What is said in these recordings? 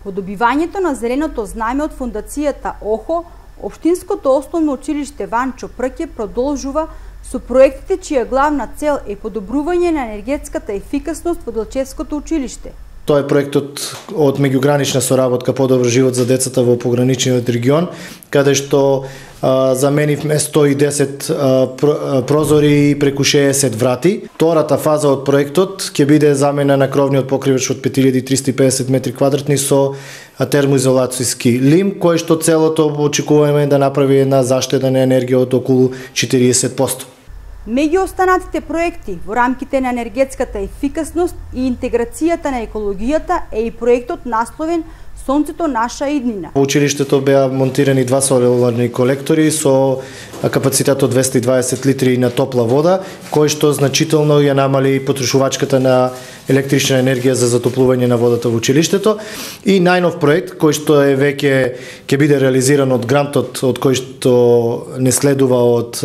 По добивањето на зеленото знаме од фондацијата ОХО, Општинското основно училиште Ванчо Прке продолжува со проектите чија главна цел е подобрување на енергетската ефикасност во Делчевското училиште. Тоа е проектот од меѓугранична соработка Подобар живот за децата во пограничниот регион, каде што заменивме 110 прозори и преку 60 врати. Втората фаза од проектот ќе биде замена на кровниот покривач од 5350 метри квадратни со термоизолацијски лим, кој што целото очекуваме да направи една заштеда на енергија од околу 40%. Меѓу останатите проекти во рамките на енергетската ефикасност и интеграцијата на екологијата е и проектот насловен Сонцето наша иднина. Во училиштето беа монтирани 2 соларни колектори со капацитет од 220 литри на топла вода, кој што значително ја намали потрошувачката на електрична енергија за затоплување на водата во училиштето. И најнов проект кој што е веќе ќе биде реализиран од грантот од кој што не следува од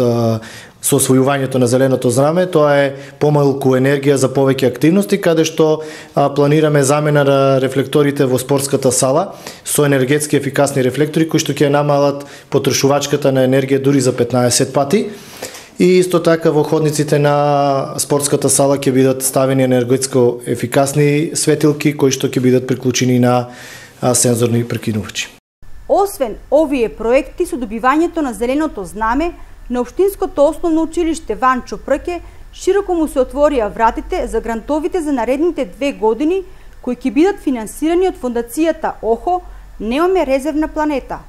со освојувањето на зеленото знаме, тоа е помалку енергија за повеќе активности, каде што планираме замена на рефлекторите во спортската сала со енергетски ефикасни рефлектори кои што ќе намалат потрошувачката на енергија дури за 15 пати. И исто така во ходниците на спортската сала ќе бидат ставени енергетско ефикасни светилки кои што ќе бидат приклучени на сензорни прекинувачи. Освен овие проекти со добивањето на зеленото знаме, на Општинското основно училиште Ванчо Прке широко му се отворија вратите за грантовите за наредните 2 години, кои ќе бидат финансирани од фондацијата ОХО "Немаме резервна планета".